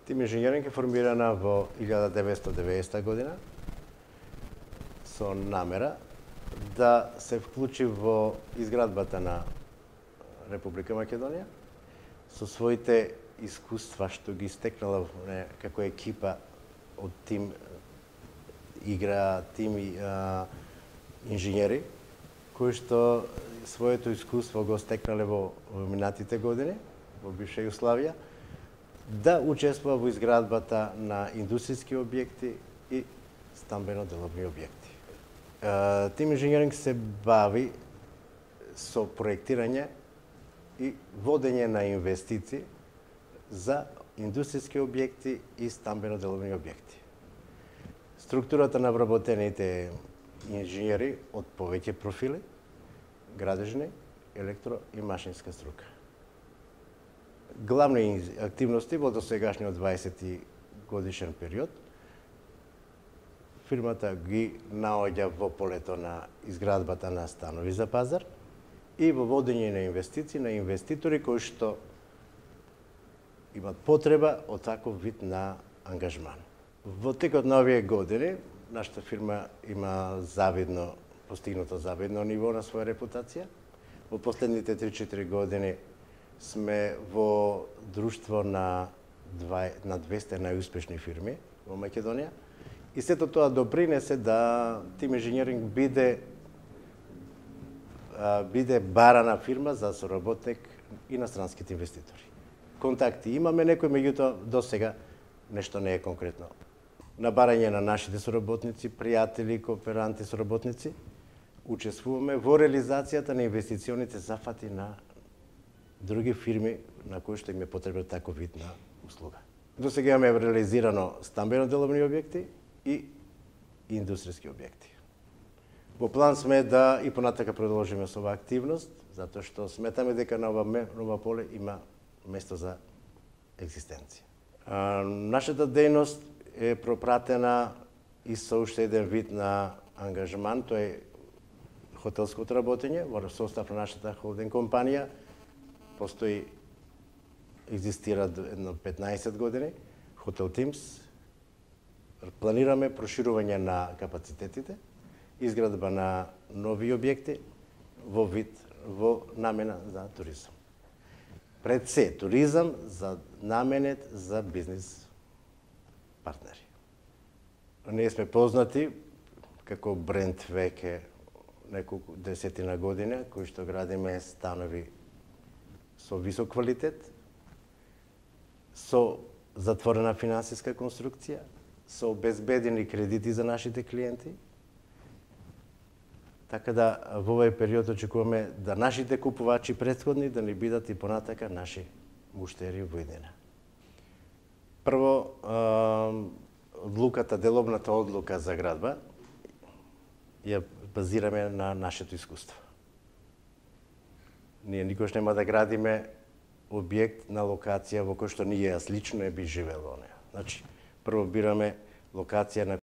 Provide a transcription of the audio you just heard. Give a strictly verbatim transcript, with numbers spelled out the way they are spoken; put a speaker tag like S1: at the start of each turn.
S1: Тим инженеринг е формирана во илјада деветстотини и деветдесета година со намера да се вклучи во изградбата на Република Македонија со своите искуства што ги стекнала како екипа од тим игра, тим а, инженери кои што своето искуство го стекнале во минатите години во бивша Југославија, да учествува во изградбата на индустријски објекти и стамбено-деловни објекти. Тим инженеринг се бави со проектирање и водење на инвестиции за индустријски објекти и стамбено-деловни објекти. Структурата на вработените инженери од повеќе профили, градежни, електро и машинска струка. Главни активности во досегашниот дваесети годишен период фирмата ги наоѓа во полето на изградбата на станови за пазар и во водење на инвестиции на инвеститори кои што имат потреба од таков вид на ангажман. Во текот на овие години нашата фирма има завидно постигнато завидно ниво на своја репутација. Во последните три-четири години сме во друштво на на двесте најуспешни фирми во Македонија и сето тоа допринесе да Тим инженеринг биде биде барана фирма за соработник и на странските инвеститори. Контакти имаме некои, меѓутоа до сега нешто не е конкретно. На барање на нашите соработници, пријатели, кооперанти, соработници, учествуваме во реализацијата на инвестиционите зафати на други фирми на кои што им е потребен таков вид на услуга. До сега имаме реализирано стамбено-деловни објекти и индустријски објекти. Во план сме да и понатака продолжиме со оваа активност, затоа што сметаме дека на ова, ова поле има место за екзистенција. А, нашата дејност е пропратена и со уште еден вид на ангажман, тоа е хотелското работење во состав на нашата холдинг компанија. Постои, екзистира едно петнаесет години, Хотел Тимс. Планираме проширување на капацитетите, изградба на нови објекти во вид, во намена за туризам. Пред се, туризам за наменет за бизнис партнери. Ние сме познати како бренд веќе неколку десетина година, кои што градиме станови со висок квалитет, со затворена финансиска конструкција, со обезбедени кредити за нашите клиенти. Така да во овој период очекуваме да нашите купувачи претходни да ни бидат и понатака наши муштери во иднина. Прво, одлуката, деловната одлука за градба ја базираме на нашето искуство. Ние никош нема да градиме објект на локација во кој што ние јас лично не би живел во неа. Значи, прво бираме локација на